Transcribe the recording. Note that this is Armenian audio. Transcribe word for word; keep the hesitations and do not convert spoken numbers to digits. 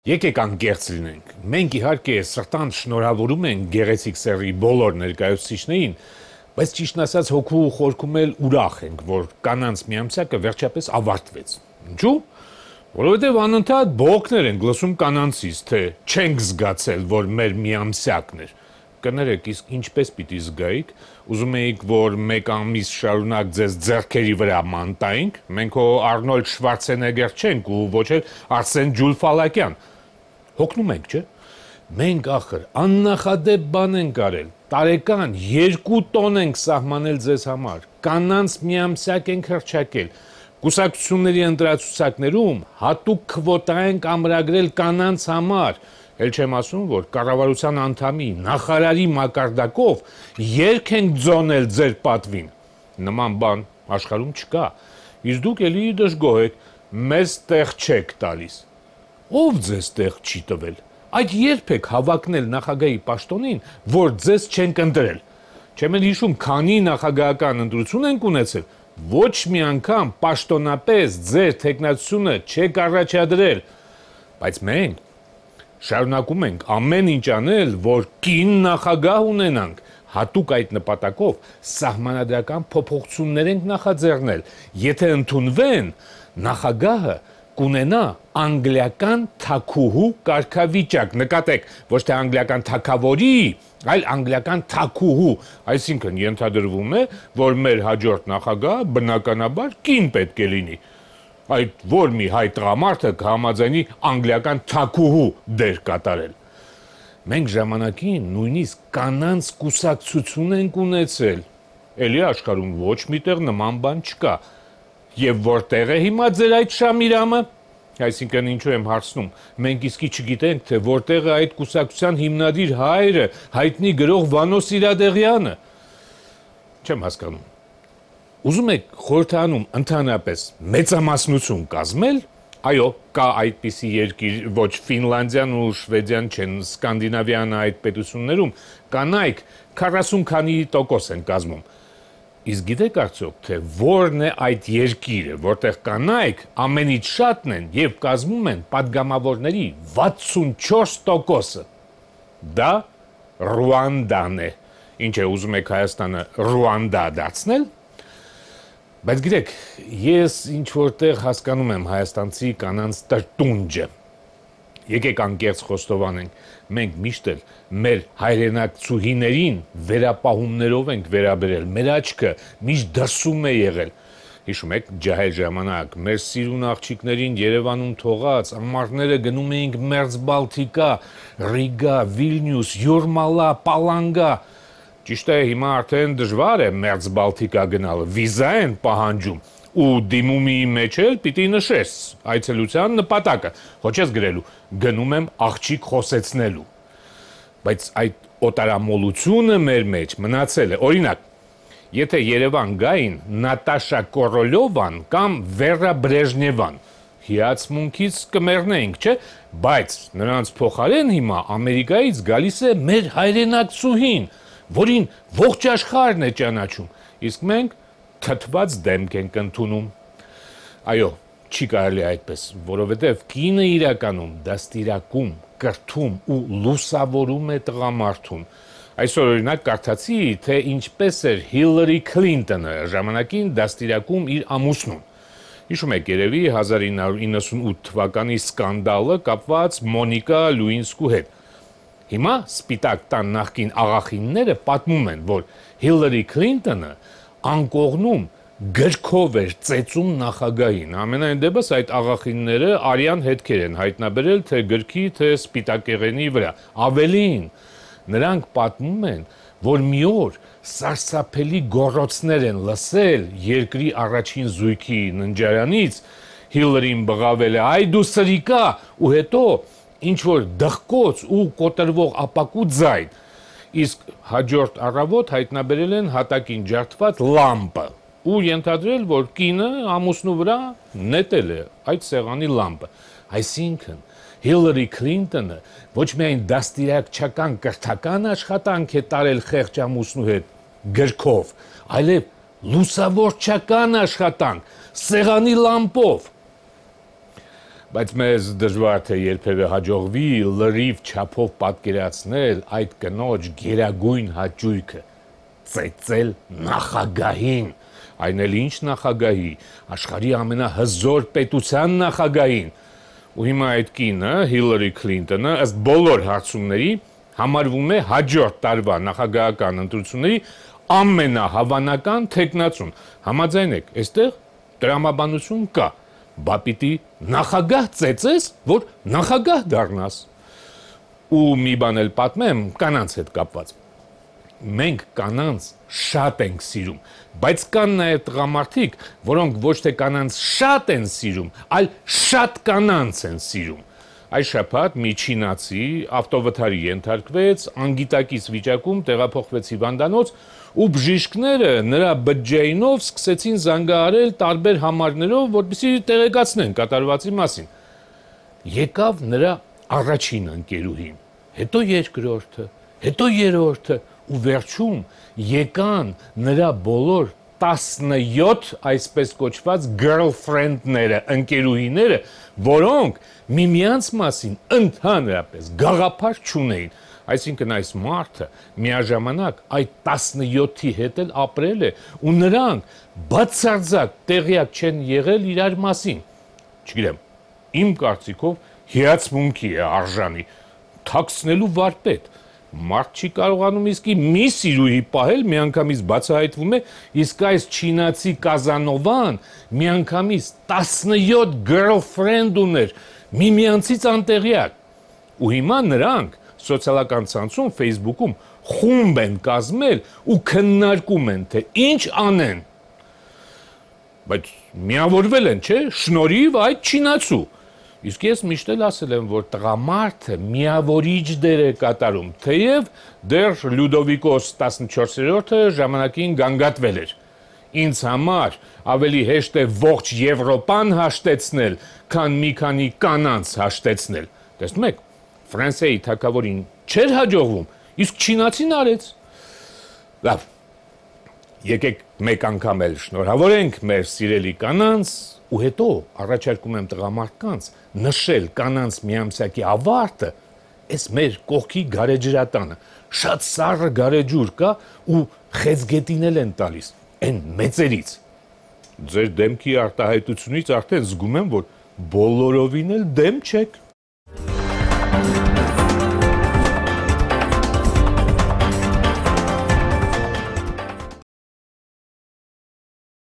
Եկեք անկեղծ լինենք, մենք իհարկե սրտանց շնորհավորում ենք գեղեցիկ սեռի բոլոր ներկայացուցիչներին, բայց ճիշտն ասած հոգու ու խորքում էլ ուրախ ենք, որ կանանց միամսյակը վերջապես ավարտվեց։ Ինչու՞։ Որովհետև անընդհատ բողոքներ ենք լսում կանանցից, թե չենք զգացել, որ մեր միամսյակն էր։ Կներեք, իսկ ինչպես պիտի զգայիք, ուզում էիք, որ մեկ ամիս շարունակ ձեզ ձեռքերի վրա մանտայինք, մենք հո Արնոլդ Շվարցենեգեր չենք ու ոչ էլ Արսեն Ջուլֆալակյան։ Հոգնում ենք, չէ՞։ Մենք ախր աննախադեպ բան ենք արել, տարեկան երկու տոն ենք սահմանել ձեզ համար, կանանց միամսյակ ենք հռչակել, կուսակցությունների ընտրացուցակներում հատուկ քվոտա ենք ամրագրել կանանց համար, էլ չեմ ասում, որ կառավարության անդամի, նախարարի մակարդակով երգ ենք ձոնել ձեր պատվին։ Նման բան աշխարհում չկա, իսկ դուք էլի դժգոհ եք, մեզ տեղ չեք տալիս։ Ով ձեզ տեղ չի տվել։ Այդ երբ եք հավակնել նախագահի պաշտոնին, որ ձեզ չենք ընտրել։ Չեմ էլ հիշում, քանի նախագահական ընտրություն ենք ունեցել, ոչ մի անգամ պաշտոնապես ձեր թեկնածությունը չեք առաջադրել։ Բայց մենք շարունակում ենք ամեն ինչ անել, որ կին նախագահ ունենանք, հատուկ այդ նպատակով սահմանադրական փոփոխություններ ենք նախաձեռնել։ Եթե ընդունվեն, նախագահը կունենա անգլիական թագուհու կարգավիճակ, նկատեք, ոչ թե անգլիական թագավորի, այլ անգլիական թագուհու, այսինքն ենթադրվում է, որ մեր հաջորդ նախագահը բնականաբար կին պետք է լինի։ Այդ որ մի հայ տղամարդը կհամաձայնի անգլիական թագուհու դեր կատարել։ Մենք ժամանակին նույնիսկ կանանց կուսակցություն ենք ունեցել։ Էլի աշխարհում ոչ միտեղ նման բան չկա։ Եվ որտեղ է հիմա ձեր այդ Շամիրամը։ Այսինքն ինչու եմ հարցնում, մենք իսկի չգիտենք, թե որտեղ է այդ կուսակցության հիմնադիր հայրը, հայտնի գրող Վանո Սիրադեղյանը։ Չեմ հասկանում։ Ուզում եք խորհրդանում ընդհանրապես մեծամասնություն կազմել, այո, կա այդպիսի երկիր, ոչ Ֆինլանդիան ու Շվեդիան չեն, Սկանդինավյան այդ պետություններում կանայք քառասուն քանի տոկոս են կազմում։ Իսկ գիտեք արդյոք, թե որն է այդ երկիրը, որտեղ կանայք ամենից շատն են եւ կազմում են падգամավորների վաթսունչորս տոկոսը։ Դա Ռուանդան է։ Ինչ է, ուզում եք Հայաստանը Ռուանդա դարձնել։ Բայց գիտեք, ես ինչ որտեղ հասկանում եմ հայաստանցի կանանց տրտունջը։ Եկեք անկեղծ խոստովանենք, մենք միշտ էլ մեր հայրենակցուհիներին վերապահումներով ենք վերաբերել, մեր աչքը միշտ դրսում է եղել։ Հիշում եք, ջահել ժամանակ, մեր սիրուն աղջիկներին Երևանում թողած, ամառները գնում էինք Մերձբալթիկա, Ռիգա, Վիլնյուս, Յուրմալա, Պալանգա։ Ճիշտ է, հիմա արդեն դժվար է Մերձբալթիկա գնալը, վիզա են պահանջում, ու դիմումի մեջ էլ պիտի նշես այցելության նպատակը, ոչ ես գրելու, գնում եմ աղջիկ խոսեցնելու։ Բայց այդ օտարամոլությունը մեր մեջ մնացել է, օրինակ, եթե Երևան գային Նատաշա Կորոլյովան կամ Վերա Բրեժնևան, հիացմունքից կմեռնեինք, չէ, բայց նրանց փոխարեն հիմա Ամերիկայից գալիս է մեր հայրենակցուհին, որին ողջ աշխարհն է ճանաչում, իսկ մենք թթված դեմք ենք ընդունում։ Այո, չի կարելի այդպես, որովհետև կինը իրականում դաստիարակում, կրթում ու լուսավորում է տղամարդուն։ Այսօր օրինակ կարդացի, թե ինչպես էր Հիլարի Քլինտոնը ժամանակին դաստիարակում իր ամուսնուն։ Հիշում եք երևի հազար ինը հարյուր իննսունութ թվականի սկանդալը կապված Մոնիկա Լուինսկու հետ։ Հիմա Սպիտակ տան նախկին աղախինները պատմում են, որ Հիլարի Քլինտոնը անկողնում գրքով էր ծեծում նախագահին։ Ամենայն դեպս այդ աղախինները արյան հետքեր են հայտնաբերել թե գրքի, թե սպիտակեղենի վրա։ Ավելին, նրանք պատմում են, որ մի օր սարսափելի գոռոցներ են լսել երկրի առաջին զույգի ննջարանից, Հիլարին բղավել է, այ դու սրիկա, ու հետո ինչ որ դղկոց ու կոտրվող ապակու ձայն, իսկ հաջորդ առավոտ հայտնաբերել են հատակին ջարդված լամպը ու ենթադրել, որ կինը ամուսնու վրա նետել է այդ սեղանի լամպը։ Այսինքն Հիլարի Քլինտոնը ոչ միայն դաստիարակչական կրթական աշխատանք է տարել խեղճ ամուսնու հետ գրքով, այլև լուսավորչական աշխատանք սեղանի լամպով։ Բայց մեզ դժվար թե երբևէ հաջողվի լրիվ չափով պատկերացնել այդ կնոջ գերագույն հաճույքը՝ ծեծել նախագահին, այն էլ ինչ նախագահի, աշխարհի ամենահզոր պետության նախագահին։ Ու հիմա այդ կինը, Հիլարի Քլինտոնը, ըստ բոլոր հարցումների համարվում է հաջորդ տարվա նախագահական ընտրությունների ամենահավանական թեկնածուն։ Համաձայն եք, այստեղ տրամաբանություն կա։ Բա պիտի նախագահ ծեծես, որ նախագահ դառնաս։ Ու մի բան էլ պատմեմ կանանց հետ կապված։ Մենք կանանց շատ ենք սիրում, բայց կան նաև տղամարդիկ, որոնք ոչ թե կանանց շատ են սիրում, այլ շատ կանանց են սիրում։ Այս շաբաթ մի չինացի ավտովթարի ենթարկվեց, անգիտակից վիճակում տեղափոխվեց հիվանդանոց ու բժիշկները նրա բջջայինով սկսեցին զանգահարել տարբեր համարներով, որպեսզի տեղեկացնեն կատարվածի մասին։ Եկավ նրա առաջին ընկերուհին, հետո երկրորդը, հետո երրորդը ու վերջում եկան նրա բոլոր տասնյոթ այսպես կոչված girlfriend-ները, ընկերուհիները, որոնք միմյանց մասին ընդհանրապես գաղափար չունեին։ Այսինքն այս մարդը միաժամանակ այդ տասնյոթի հետ էլ ապրել է ու նրանք բացարձակ տեղյակ չեն եղել իրար մասին։ Չգիտեմ, իմ կարծիքով հիացմունքի է արժանի, թաքցնելու վարպետ։ Մարդ չի կարողանում իսկի մի սիրուհի պահել, միանգամից բացահայտվում է, իսկ այս չինացի Կազանովան միանգամից տասնյոթ girlfriend ուներ, միմյանցից անտեղյակ։ Ու հիմա նրանք սոցիալական ցանցում, Facebook-ում խումբ են կազմել ու քննարկում են, թե ինչ անեն։ Բայց միավորվել են, չէ՞, շնորհիվ այդ չինացու։ Իսկ ես միշտ էլ ասել եմ, որ տղամարդը միավորիչ դեր է կատարում, թեև դեռ Լյուդովիկոս տասնչորսերորդը ժամանակին գանգատվել էր։ Ինձ համար ավելի հեշտ է ողջ Եվրոպան հաշտեցնել, քան մի քանի կանանց հաշտեցնել։ Տեսնում եք, Ֆրանսիայի թագավորին չէր հաջողվում, իսկ չինացին արեց։ Լավ, եկեք մեկ անգամ էլ շնորհավորենք մեր սիրելի կանանց, ու հետո առաջարկում եմ տղամարդկանց նշել կանանց միամսյակի ավարտը, այս մեր կողքի գարեջրատանը, շատ սառը գարեջուր կա ու խեցգետին էլ են տալիս, այն մեծերից։ Ձեր դեմքի արտահայտությունից արդեն զգում եմ, որ բոլորովին էլ դեմ չեք։